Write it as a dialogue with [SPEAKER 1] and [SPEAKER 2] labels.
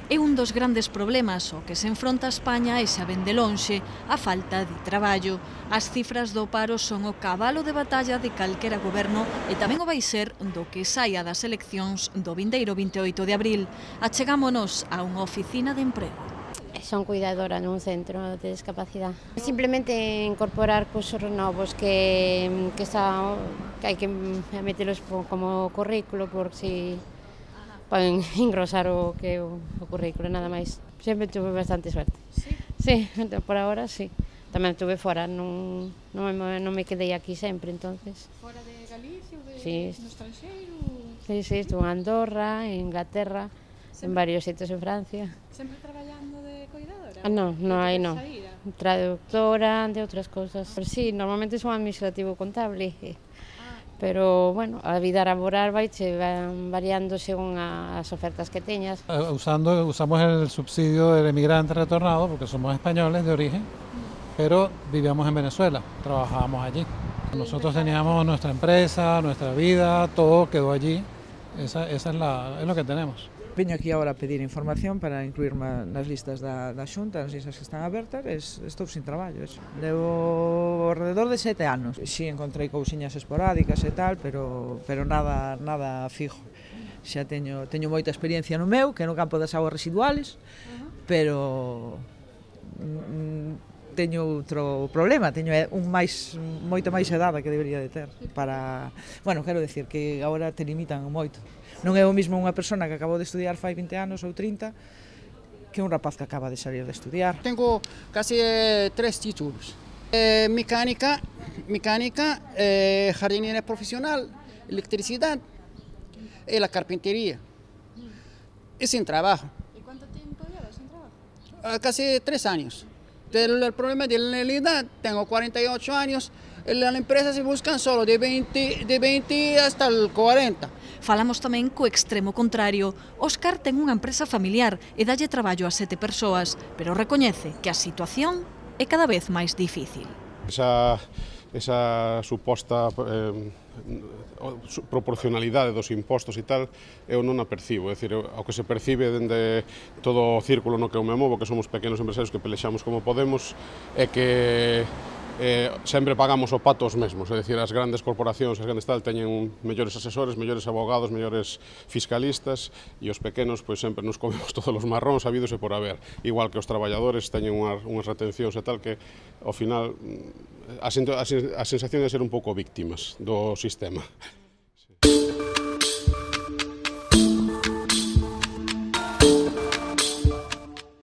[SPEAKER 1] É un dos grandes problemas ao que se enfronta España e xa ven de lonxe a falta de traballo. As cifras do paro son o cabalo de batalla de calquera goberno e tamén o vai ser do que saia das eleccións do vindeiro 28 de abril. Achegámonos a unha oficina de emprego.
[SPEAKER 2] Son cuidadora nun centro de discapacidade. Simplemente incorporar cursos novos que hai que metelos como currículo por si poden engrosar o que o currículo, nada máis. Sempre tuve bastante suerte. Sí, por agora sí. Tamén estuve fora, non me quedei aquí sempre, entonces.
[SPEAKER 3] Fora de Galicia ou
[SPEAKER 2] no
[SPEAKER 3] estranxeiro?
[SPEAKER 2] Sí, estuve en Andorra, en Inglaterra, en varios sitios en Francia.
[SPEAKER 3] Sempre traballando de cuidadora?
[SPEAKER 2] Non, aí non. Traductora de outras cousas. Sí, normalmente son administrativo contable. Pero, bueno, a vida laboral van variando según as ofertas que teñas.
[SPEAKER 4] Usamos el subsidio del emigrante retornado porque somos españoles de origen, pero vivíamos en Venezuela, trabajábamos allí. Nosotros teníamos nuestra empresa, nuestra vida, todo quedó allí. Esa es lo que tenemos.
[SPEAKER 5] Veño aquí agora a pedir información para incluirme nas listas da Xunta, nas listas que están abertas, estou sin traballo. Levo alrededor de 7 anos. Si encontrei cousiñas esporádicas e tal, pero nada fijo. Xa teño moita experiencia no meu, que é no campo das augas residuales, pero teño outro problema, teño moita máis edade que debería de ter para, quero decir que agora te limitan moito. Non é o mesmo unha persona que acabou de estudiar fai 20 anos ou 30 que un rapaz que acaba de salir de estudiar.
[SPEAKER 6] Tengo casi 3 títulos. Mecánica, jardinera profesional, electricidad y la carpintería. Y sin trabajo.
[SPEAKER 3] ¿Y cuánto tiempo llevas sin trabajo?
[SPEAKER 6] Casi 3 años. El problema de la edad, tengo 48 años, las empresas se buscan solo de 20 hasta el 40.
[SPEAKER 1] Falamos tamén co extremo contrario. Óscar ten unha empresa familiar e dalle traballo a 7 persoas, pero recoñece que a situación é cada vez máis difícil.
[SPEAKER 7] Esa suposta proporcionalidade dos impostos e tal, eu non a percibo. É dicir, ao que se percibe dende todo o círculo no que eu me movo, que somos pequenos empresarios que pelexamos como podemos, é que sempre pagamos o pato os mesmos, é dicir, as grandes corporacións, as grandes tal, teñen mellores asesores, mellores abogados, mellores fiscalistas, e os pequenos, pois sempre nos comemos todos os marróns habidos e por haber, igual que os traballadores teñen unhas retencións e tal que, ao final, a sensación de ser un pouco víctimas do sistema.